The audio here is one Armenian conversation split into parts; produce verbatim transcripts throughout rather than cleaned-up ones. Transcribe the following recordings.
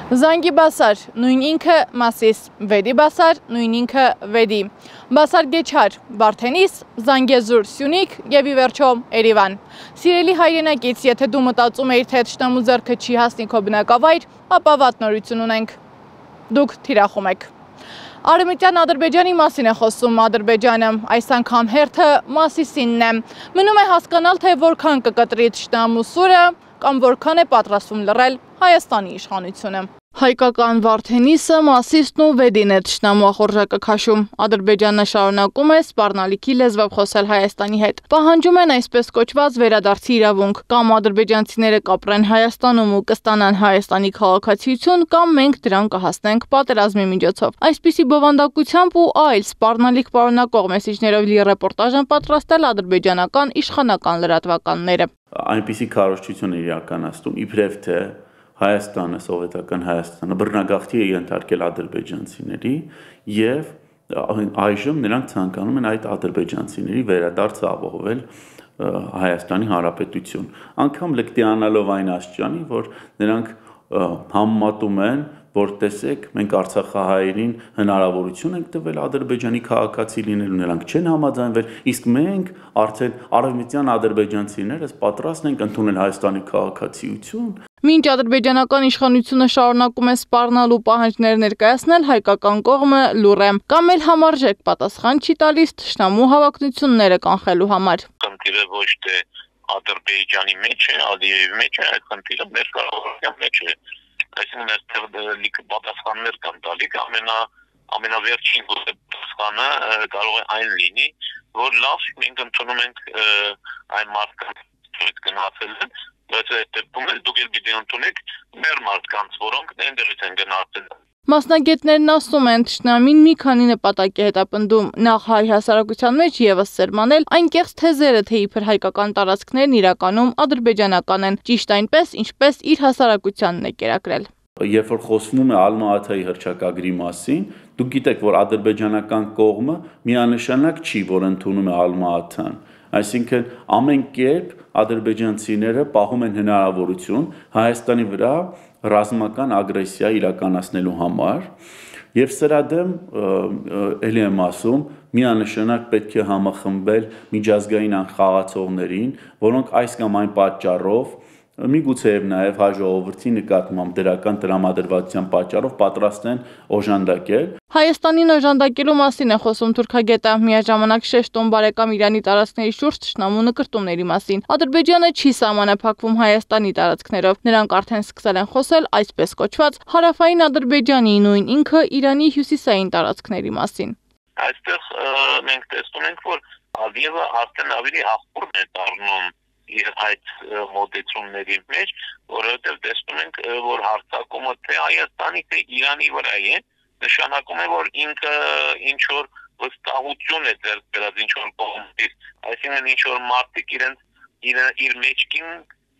Զանգի բասար, նույն ինքը Մասիս, Վեդի բասար, նույն ինքը Վեդի, Բասար Գեչար, Վարդենիս, Զանգեզուր, Սյունիք և ի վերջո Երևան։ Սիրելի հայրենակից, եթե դու մտածում էիր, թե թշնամու ձեռքը չի հասնի քո բնակավայր, ապա վատ նորություն ունենք։ Դուք թիրախում եք։ Արևմտյան Ադրբեջանի մասին է խոսում Ադրբեջանը, այս անգամ հերթը Մասիսինն է։ Մնում է հասկանալ, թե որքան կկտրի թշնամու սուրը կամ որքան է պատրաստվում լռել Հայաստանի իշխանությունը։ Հայկական Վարդենիսը, Մասիսն ու Վեդին է թշնամու ախորժակը քաշում։ Ադրբեջանը շարունակում է սպառնալիքի լեզվով խոսել Հայաստանի հետ։ Պահանջում են այսպես կոչված վերադարձի իրավունք, կամ ադրբեջանցիները կապրեն Հայաստանում ու կստանան Հայաստանի քաղաքացիություն, կամ մենք դրան կհասնենք պատերազմի միջոցով։ Այսպիսի բովանդակությամբ ու այլ սպառնալիք պարունակող մեսիջներով լի ռեպորտաժ են պատրաստել ադրբեջանական իշխանական լրատվականները։ Այնպիսի քարոզչություն է իրականացնում, իբրև թե Հայաստանը, սովետական Հայաստանը բռնագաղթի է ենթարկել ադրբեջանցիների և այժմ նրանք ցանկանում են այդ ադրբեջանցիների վերադարձը ապահովել Հայաստանի Հանրապետություն։ Անգամ լկտիանալով այն աստիճանի, որ նրանք համեմատում են, որ տեսեք, մենք արցախահայերին հնարավորություն ենք տվել Ադրբեջանի քաղաքացի լինելու, նրանք չեն համաձայնվել, իսկ մենք արդեն արևմտյան ադրբեջանցիներս պատրաստ ենք ընդունել Հայաստանի քաղաքացիություն։ Մինչ ադրբեջանական իշխանությունը շարունակում է սպառնալ ու պահանջներ ներկայացնել, հայկական կողմը լուռ է, կամ էլ համարժեք պատասխան չի տալիս թշնամու հավակնությունները կանխելու համար։ Խնդիրը ոչ թե Ադրբեջանի մեջ է, Ալիևի մեջ է, այդ խնդիրը մեր կառավարության մեջ է։ Այսինքն այստեղ լիքը պատասխաններ կան տալիք, ամենա ամենավերջին պատասխանը կարող է այն լինի, որ լավ, մենք ընդունում ենք այն մարդկանց գնացել են, բայց այդ դեպքում էլ դուք էլ պիտի ընդունեք մեր մարդկանց, որոնք այնտեղից են գնացել։ Մասնագետներն ասում են, թշնամին մի քանի նպատակ է հետապնդում, նախ հայ հասարակության մեջ ևս սերմանել այն կեղծ թեզերը, թե իբր հայկական տարածքներն իրականում ադրբեջանական են, ճիշտ այնպես, ինչպես իր հասարակությանն է կերակրել։ Երբ որ խոսվում է Ալմա-Աթայի հռչակագրի մասին, դուք գիտեք, որ ադրբեջանական կողմը միանշանակ չի, որ ընդունում է Ալմա-Աթան, այսինքն ամեն կերպ ադրբեջանցիները պահում են հնարավորություն Հայաստանի վրա ռազմական ագրեսիա իրականացնելու համար, և սրա դեմ էլի եմ ասում, միանշանակ պետք է համախմբել միջազգային խաղացողներին, որոնք այս կամ այն պատճառով, միգուցեև նաև հայ ժողովրդի նկատմամբ դրական տրամադրվածության պատճառով պատրաստ են օժանդակել։ Հայաստանին օժանդակելու մասին է խոսում թուրքագետը, միաժամանակ շեշտում բարեկամ Իրանի տարածքների շուրջ թշնամու նկրտումների մասին։ Ադրբեջանը չի սահմանափակվում Հայաստանի տարածքներով, նրանք արդեն սկսել են խոսել այսպես կոչված հարավային Ադրբեջանի, նույն ինքը Իրանի հյուսիսային տարածքների մասին։ Այստեղ մենք տեսնում ենք, որ Ալիևը արդեն ավելի աղբուր է դառնում իր այդ մոտեցումների մեջ, որովհետև տեսնում ենք, որ հարձակումը թե Հայաստանի, թե Իրանի վրա է, նշանակում է, որ ինքը ինչ-որ վստահություն է ձեռք բերած ինչ-որ կողմից, այսինքն ինչ-որ մարդիկ իրենց իր մեջքին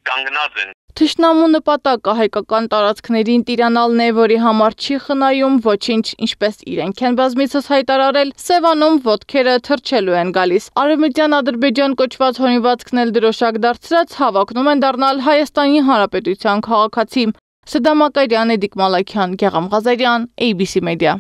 կանգնած են։ Թշնամու նպատակը հայկական տարածքներին տիրանալն է, որի համար չի խնայում ոչինչ, ինչպես իրենք են բազմիցս հայտարարել, Սևանում ոտքերը թռչելու են գալիս։ Արևմտյան Ադրբեջան կոչված հորինվածքն էլ դրոշակ դարձրած հավակնում են դառնալ Հայաստանի Հանրապետության քաղաքացի։ Սդամ Ակարյան, Էդիկ Մալաքյան, Գեղամ Ղազարյան, A B C Media։